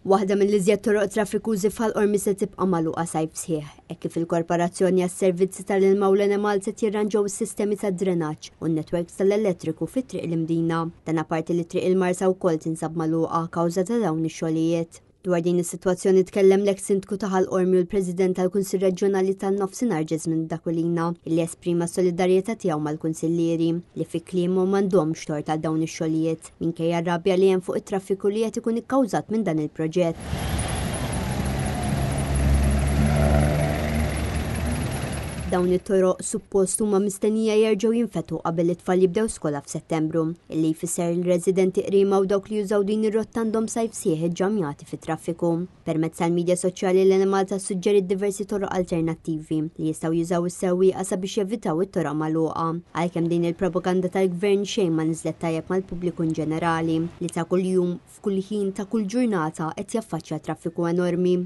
Waħda mill-iżjed toroq traffikużi f'Ħal Qormi se tibqa' magħluqa sajf sħiħ, hekk kif il-Korporazzjoni għas-Servizzi tal-Ilma u l-Enemalta qed jirranġaw is-sistemi tad-drenaġġ u n-netwerks tal-elettriku fi Triq l-Imdina. Dan apparti li Triq il-Marsa wkoll tinsab magħluqa kawża ta' dawn ix-xogħlijiet. Dwar din is-sitwazzjoni tkellem l-eks Sindku ta' Ħal Qormi u l-President tal-Kunsill Reġjonali tan-Nofsinhar Jesmond Aquilina illi esprima s-solidarjetà tiegħu mal-kunsillieri li fi kliemu m'għandhomx tort għal dawn ix-xogħlijiet minkejja r-rabja li hemm fuq it-traffiku li qed ikun ikkawżat minn dan il-proġett. Dawn it-toroq suppost huma mistennija jerġgħu jinfetħu qabel it-tfal jibdew skola f'Settembru, illi jfisser li residenti Qriema u dawk li jużaw din ir-rotta għandhom sajf sħiħ iġġamjati fit-traffiku. Permezz tal-midja soċjali l-Enemalta ssuġġeriet diversi toroq alternattivi li jistgħu jużaw is-sewwieqa sabiex jevitaw it-toroq magħluqa. Għalkemm din il-propaganda tal-Gvern xejn ma niżlet tajjeb mal-pubbliku inġenerali li ta' kuljum, f'kull ħin ta' kull ġurnata qed jaffaċċja traffiku enormi.